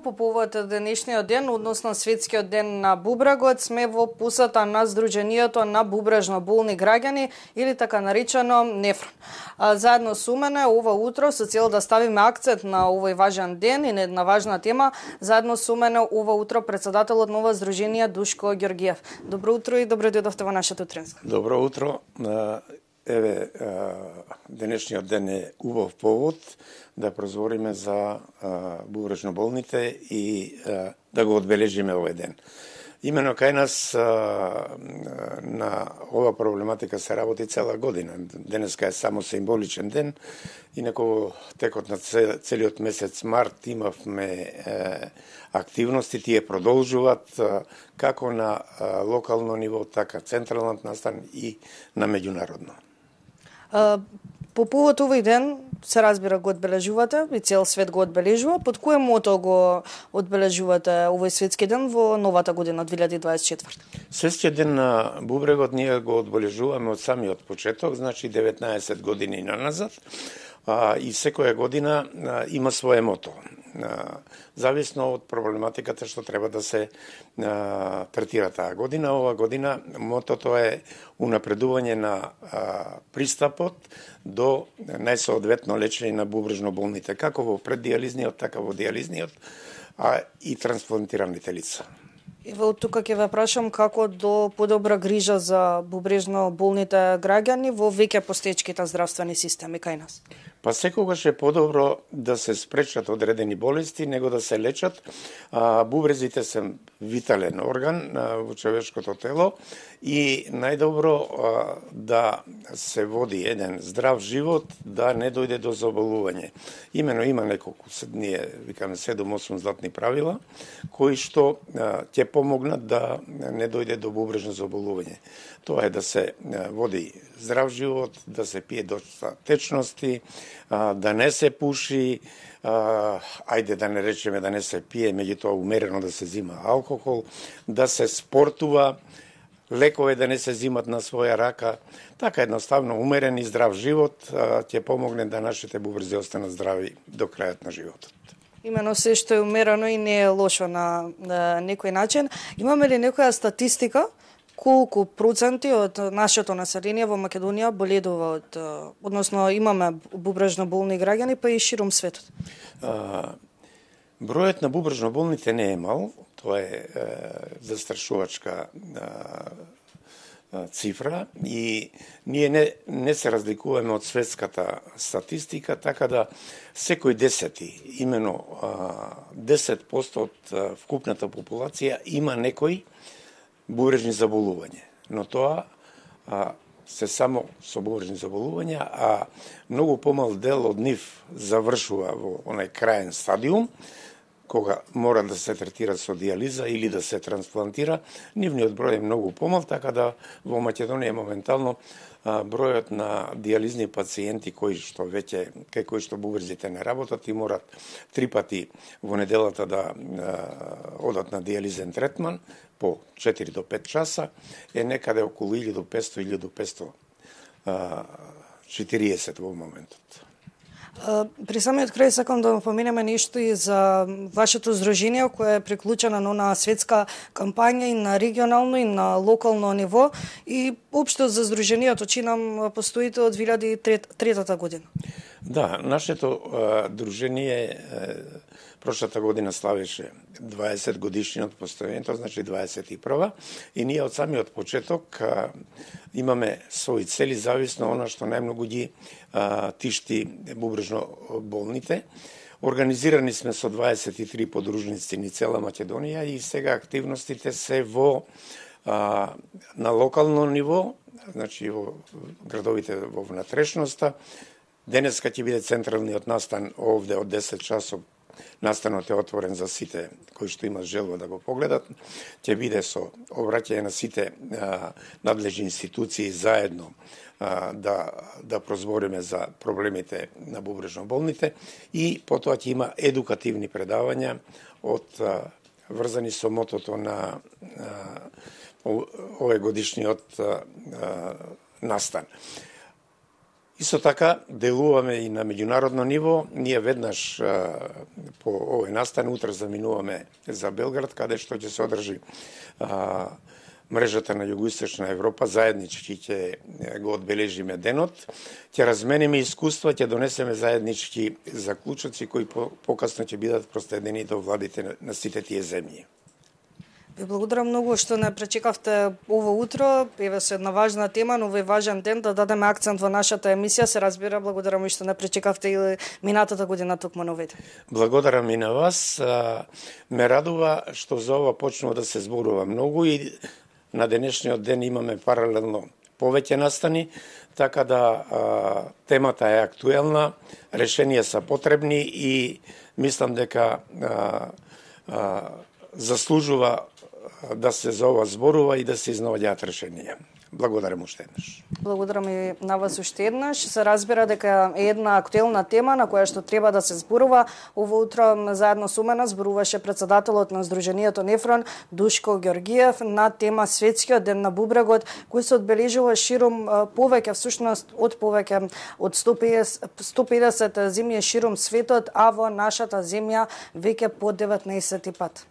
по повод денешниот ден, односно светскиот ден на бубрегот, сме во посета на Сдруженијето на бубрежно болни граѓани или така наречено Нефрон. Заедно со мене ова утро со цел да ставиме акцент на овој важен ден и на една важна тема, заедно со мене ова утро председателот на ова Сдружение Душко Ѓоргиев. Добро утро и добро дојдовте во нашата утринска. Добро утро. Еве, денешниот ден е убав повод да прозвориме за бубрежно болните и да го одбележиме овој ден. Имено кај нас на ова проблематика се работи цела година. Денеска е само символичен ден, инаку во текот на целиот месец март имавме активности, тие продолжуваат како на локално ниво, така централниот настан и на меѓународно. По повод овој ден, се разбира, го одбележувате и цел свет го одбележува. Под кое мото го одбележувате овој светски ден во новата година, 2024? Светскиот ден на бубрегот ние го одбележуваме од самиот почеток, значи 19 години наназад, и секоја година има свое мото. Зависно од проблематиката што треба да се третира таа година. Ова година мотото е унапредување на пристапот до најсоодветно лечење на бубрежно болните, како во преддиализниот, така во диализниот, и трансплантираните лица. Ево тука ќе ве прашам како до подобра грижа за бубрежно болните граѓани во веќе постоечките здравствени системи кај нас. Па секогаш е подобро да се спречат одредени болести, него да се лечат. Бубрезите се витален орган во човечкото тело и најдобро да се води еден здрав живот, да не дојде до заболување. Имено има неколку, ние викаме 7-8 златни правила, кои што ќе помогнат да не дојде до бубрежно заболување. Тоа е да се води здрав живот, да се пие доста течности, да не се пуши, ајде да не речеме да не се пие, меѓутоа умерено да се зима алкохол, да се спортува, лекове да не се зимат на своја рака. Така едноставно умерен и здрав живот ќе помогне да нашите бубрези останат здрави до крајот на животот. Имено се што е умерено и не е лошо на некој начин. Имаме ли некоја статистика колку проценти од нашето население во Македонија боледува од, односно имаме бубрежно болни граѓани, па и широм светот? Бројот на бубрежно болните не е мал, тоа е застрашувачка цифра и ние не се разликуваме од светската статистика, така да секој десети, имено 10% од вкупната популација има некој бубрежни заболување, но тоа се само со бубрежни заболувања, а многу помал дел од нив завршува во онај краен стадиум, кога мора да се третира со диализа или да се трансплантира. Нивниот број е многу помал, така да во Македонија моментално бројот на диализни пациенти кои што бубрезите не работат и морат 3 пати во неделата да одат на диализен третман по 4 до 5 часа е некаде околу 1540 во моментот. При самиот крај сакам да поминеме нешто и за вашето здружение кое е приклучено на светска кампања и на регионално и на локално ниво и општо за здружението чинам постоите од 2003 година. Да, нашето дружение прошлата година славеше 20 годишниот постоењето, значи 21 и ние од самиот почеток имаме своји цели зависно она што најмногу ги тишти бубрежно болните. Организирани сме со 23 подружници ни цела Македонија и сега активностите се во на локално ниво, значи во градовите во внатрешноста. Денеска ќе биде централниот настан овде од 10 часов. Настанот е отворен за сите кои што имат желба да го погледат. Ќе биде со обраќање на сите надлежни институции заедно да прозбориме за проблемите на бубрежно болните и потоа ќе има едукативни предавања врзани со мотото на овој годишниот настан. Исто така, делуваме и на меѓународно ниво. Ние веднаш по овој настан, утре заминуваме за Белград, каде што ќе се одржи мрежата на Југоисточна Европа, заеднички ќе го одбележиме денот, ќе размениме искуства, ќе донесеме заеднички заклучоци кои покасно ќе бидат проследени до владите на сите тие земји. Ви благодарам многу што не пречекавте ово утро, еве со една важна тема, но овој важен ден да дадеме акцент во нашата емисија. Се разбира, благодарам и што не пречекавте и минатата година токму на овој ден. Благодарам и на вас. Ме радува што за ова почнува да се зборува многу и на денешниот ден имаме паралелно повеќе настани, така да темата е актуелна, решенија се потребни и мислам дека заслужува да се за ова зборува и да се изнаоѓаат решенија. Благодарам уште еднаш. Благодарам и на вас уште еднаш. Се разбира дека е една актуелна тема на која што треба да се зборува. Ово утро заедно со мене зборуваше председателот на Сдруженијето Нефрон Душко Ѓоргиев на тема Светскиот ден на бубрегот, кој се одбележува широм повеќе, всушност од повеќе од 150 земји широм светот, а во нашата земја веќе по 19 пат.